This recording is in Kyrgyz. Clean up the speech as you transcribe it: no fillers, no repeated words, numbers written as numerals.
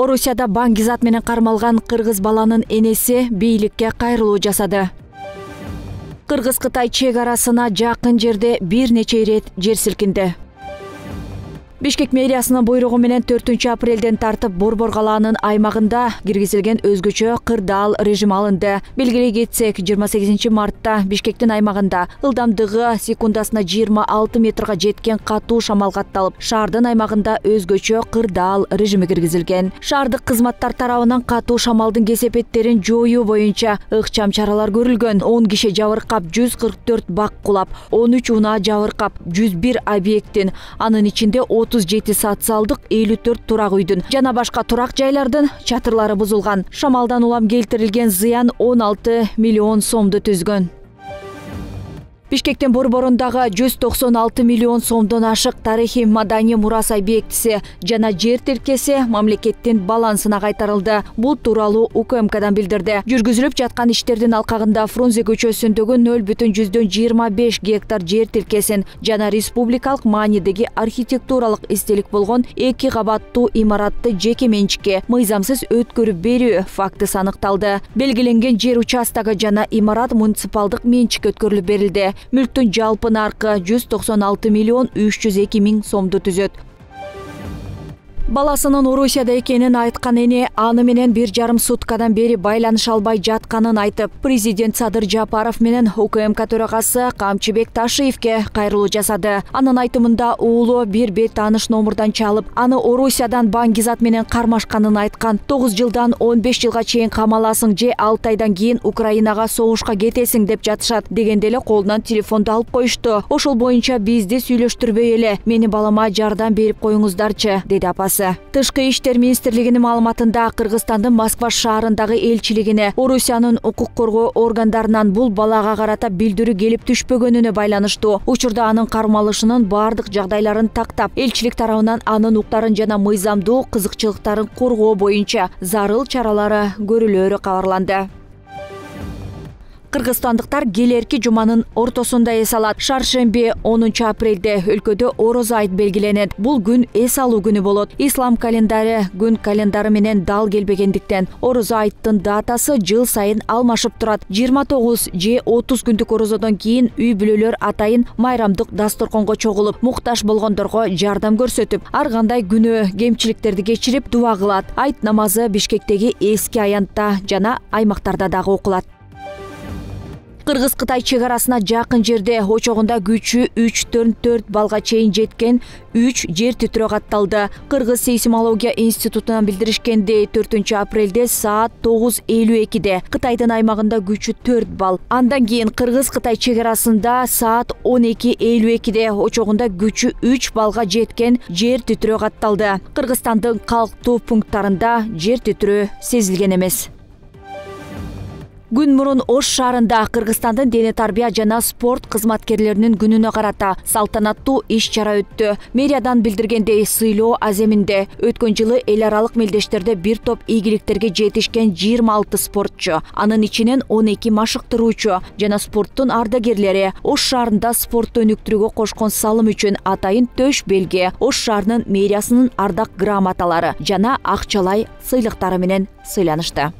Орусияда баңгизат менен кармалган кыргыз баланын энеси бийликке кайрылуу жасады. Кыргыз-Кытай чек арасына жакын жерде бир нече ирет жер силкинди. Бишкек мэриясынын буйругу менен 4-апрелден тартып Борбор калаанын аймагында киргизилген өзгөчө кырдаал режим алынды. Белгилей кетсек, 28 мартта Бишкектин аймагында ылдамдыгы секундасына 26 метрге жеткен катуу шамал катталып, шаардын аймагында өзгөчө кырдаал режими киргизилген. Шаардык кызматтар тарабынан катуу шамалдын кесепеттерин жоюу боюнча ыкчам чаралар көрүлгөн. 10 киши жабыркап, 144 бак кулап, 13 унаа жабыркап, 101 объекттин, анын ичинде 37 социалдык, 54 турак үйдүн жана башка турак жайлардын чатырлары бузулган. Шамалдан улам келтирилген зыян 16 миллион сомду түзгөн. Бишкектин борборундагы 196 миллион сомдон ашык тарыхый маданий мурас объектиси жана жер тилкеси мамлекеттин балансына кайтарылды. Бул тууралуу УКМКдан билдирди. Жүргүзүлүп жаткан иштердин алкагында Фрунзе көчөсүндөгү 0,25 гектар жер тилкесин жана республикалык маанидеги архитектуралык эстелик болгон 2 кабаттуу имаратты жеке менчикке мыйзамсыз өткөрүп берүү фактысы аныкталды. Белгиленген жер участогу жана имарат муниципалдык менчикке өткөрүлүп берилди. Мүлктүн жалпы наркы 196 миллион 302 миң сомду түзөт. Баласынын Орусияда экенин айткан эне аны менен 1,5 суткадан бери байланыша албай жатканын айтып, президент Садыр Жапаров менен УКМК төрагасы Камчыбек Ташиевке кайрылуу жасады. Анын айтымында уулу бир бет тааныш номурдан чалып, аны Орусиядан баңгизат менен кармашканын айткан. 9 жылдан 15 жылга чейин камаласың же 6 айдан кийин Украинага согушка кетесиң деп жатышат дегенде эле колунан телефонду алып коюшту. Ошол боюнча бизди сүйлөштүрбөй эле, мени балама жардам берип коюңуздарчы, деди апасы. Тышкы иштер министрлигинин маалыматында Кыргызстандын Москва шаарындагы элчилигине Орусиянын укук коргоо органдарынан бул балага карата билдирүү келип түшпөгөнүнө байланыштуу. Учурда анын кармалышынын бардык жагдайларын тактап, элчилик тарабынан анын укуктарын жана мыйзамдуу кызыкчылыктарын коргоо боюнча зарыл чаралары көрүлөөрү кабарланды. Кыргызстандыктар келерки жуманын ортосунда эс алат. Шаршемби 10 апрелде өлкөдө Орозо айт белгиленет. Бул күн эс алуу күнү болот. Ислам календары күн календары менен дал келбегендиктен Орозо айттын датасы жыл сайын алмашып турат. 29 же 30 күндүк орозодон кийин үй бүлөлөр атайын майрамдык дасторконго чогулуп, муктаж болгондорго жардам көрсөтүп, ар кандай күнөө кемчиликтерди кечирип дуа кылат. Айт намазы Бишкектеги эски аянтта жана аймактарда дагы окулат. Кыргыз-Кытай чек арасына жакын жерде очогунда күчү 3,4 балга чейин жеткен 3 жер титирөө катталды. Кыргыз сейсмология институтунан билдиришкендей, 4-апрелде саат 9:52 Кытайдын аймагында күчү 4 балл. Андан кийин Кыргыз-Кытай чек арасында саат 12:52 очогунда күчү 3 балга жеткен жер титирөө катталды. Кыргызстандын калктуу пункттарында жер титирөө сезилген эмес. Күн мурун Ош шаарында Кыргызстандын дене тарбия жана спорт кызматкерлеринин күнүнө карата салтанаттуу иш-чара өттү. Мэриядан билдиргендей, сыйлоо аземинде өткөн жылы эл аралык мелдештерде бир топ ийгиликтерге жетишкен 26 спортчу, анын ичинен 12 машыктыруучу жана спорттун ардагерлери Ош шаарында спортту өнүктүрүүгө кошкон салым үчүн атайын төш белги, Ош шаарынын мэриясынын ардак грамоталары жана акчалай сыйлыктары менен сыйланышты.